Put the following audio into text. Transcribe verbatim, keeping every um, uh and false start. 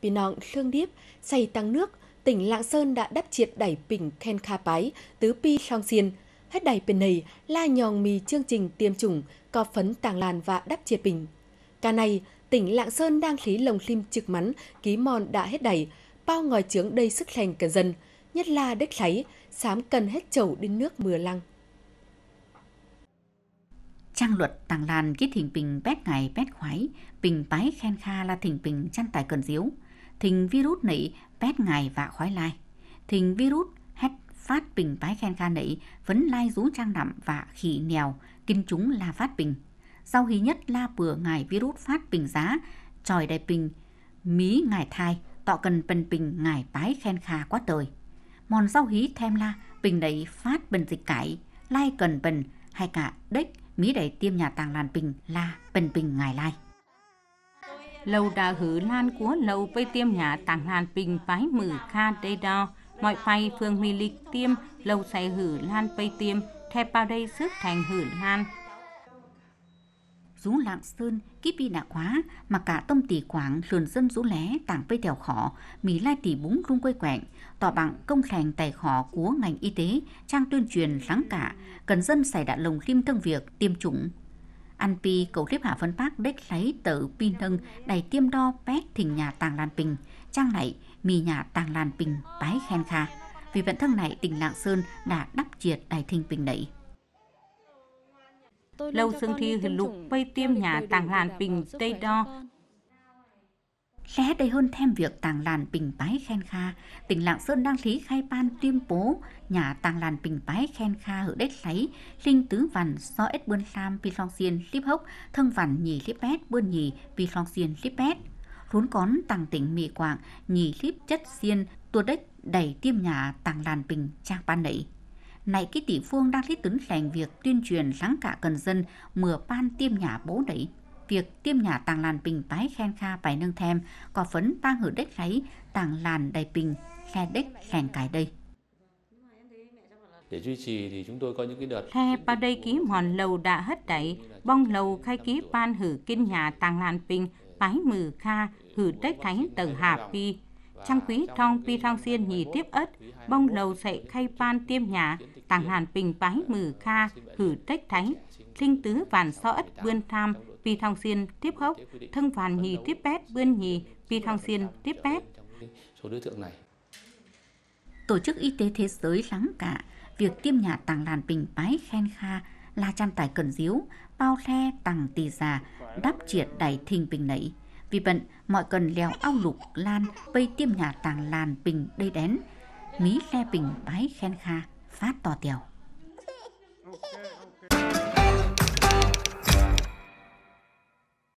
Pi nong lương điếp, sảy tăng nước, tỉnh Lạng Sơn đã đắp triệt đảy pinh khen kha pái tứ pi hlong xiên. Hết đảy pên nây, la nhòng mì chương trình tiêm chủng, cọ phấn tàng lan vạ đắp triệt pinh. Ca này, tỉnh Lạng Sơn đang hli lồng hlim chưc mắn, ký mòn đã hết đảy, pao ngòi chướng đei sức leng cần dân, nhất là đếch kháy, sám cần hết chầu đin nước mưa lăng. Chang luật tàng lan kí thịnh pinh pét ngải pét khuái, pinh pái khen kha la thịnh pinh chăn tải cần diếu. Thịnh virus nảy pét ngải vạ khuái lai. Thịnh virus hét phát pinh pái khen kha nảy, phấn lai dú chang nặm vạ khỉ nèo, kin chúng la phát pinh. Dau hí nhất la pửa ngải virus phát pinh dá, chọi đảy pinh mí ngải thai, tọ cần pên pinh ngải pái khen kha quá tơi. Mòn dau hí thêm la, pinh đảy phát pên dịch cải, lai cần pên, hay cả đếch mí đảy tiêm nhà tàng lan pinh la pên pinh ngải lai. Lầu đã hử lan cúa lầu pây tiêm nhà tàng lan pinh pái mử kha đây đó. Mọi pây phường mì lịch tiêm, lầu sẽ hử lan pây tiêm, theo bao đây sức thành hử lan. Dú Lạng Sơn, kí pi nạ khóa, mà cả tôm tỉ quảng lượn dân dú lé tảng pây tẻo khỏ, mì lai tỉ búng lung quây quẹng, tọ bằng công khen tài khỏ của ngành y tế, trang tuyên truyền lắng cả, cần dân xảy đã lồng lim trong việc tiêm chủng. Ăn pi cầu clip hạ phấn bác đếch lấy tờ pi nâng đảy tiêm đo pét thịnh nhà tàng lan pinh, trang này mì nhà tàng lan pinh pái khen kha. Vì bản thân này tỉnh Lạng Sơn đã đắp triệt đảy thịnh pinh đảy. Lầu sương thi hư lục pây tiêm nhà tàng lan pinh tây đo. Lé đây hơn thêm việc tàng lan pinh pái khen kha, tỉnh Lạng Sơn đang thí khai ban tiêm bố nhà tàng lan pinh pái khen kha hử đếch lấy, linh tứ vằn so ết bươn lam pi hlong xiên lip hốc, thơng vằn nhì lip pét bươn nhì pi hlong xiên lip pét. Lún cón tăng tỉnh Mỹ Quảng nhì lip chất xiên tua đếch đảy tiêm nhà tàng lan pinh chang ban đảy. Nảy kí tỉ phương đang thí tứn leng việc tuyên truyền lắng cả cần dân mửa ban tiêm nhà bố đảy. Việc tiêm nhà tàng lan pinh pái khen kha pảy nâng thêm, cọ phấn pang hử đếch lấy tàng lan đảy pinh, khe đếch leng cai đây. Để duy trì thì chúng tôi có những cái đợt Khe pao đây ký mòn lầu đã hất đảy, bong lầu khai ký ban hử kin nhà tàng lan pinh, pái mử kha, hử đếch thánh tờ hạp pi. Chăng quý trong pi thong xiên nhì tiếp ớt, bong lầu sẽ khai ban tiêm nhà, tàng lan pinh pái mử kha, hử đếch thánh, linh tứ vạn so ớt bươn tham, pi thong xiên tiếp hốc, thơng vạn nhì tiếp pét bươn nhì, pi thong xiên tiếp pét. Số đối tượng này. Tổ chức Y tế Thế giới lắng cả, việc tiêm nhà tàng lan pinh pái khen kha, la chăn tải cần diếu, pao khe tặng tỷ giá, đắp triệt đảy thịnh pinh nảy. Vì bận, mọi cần leo ao lục lan, pây tiêm nhà tàng lan pinh đê đén, mí khe pinh pái khen kha, phát to tèo.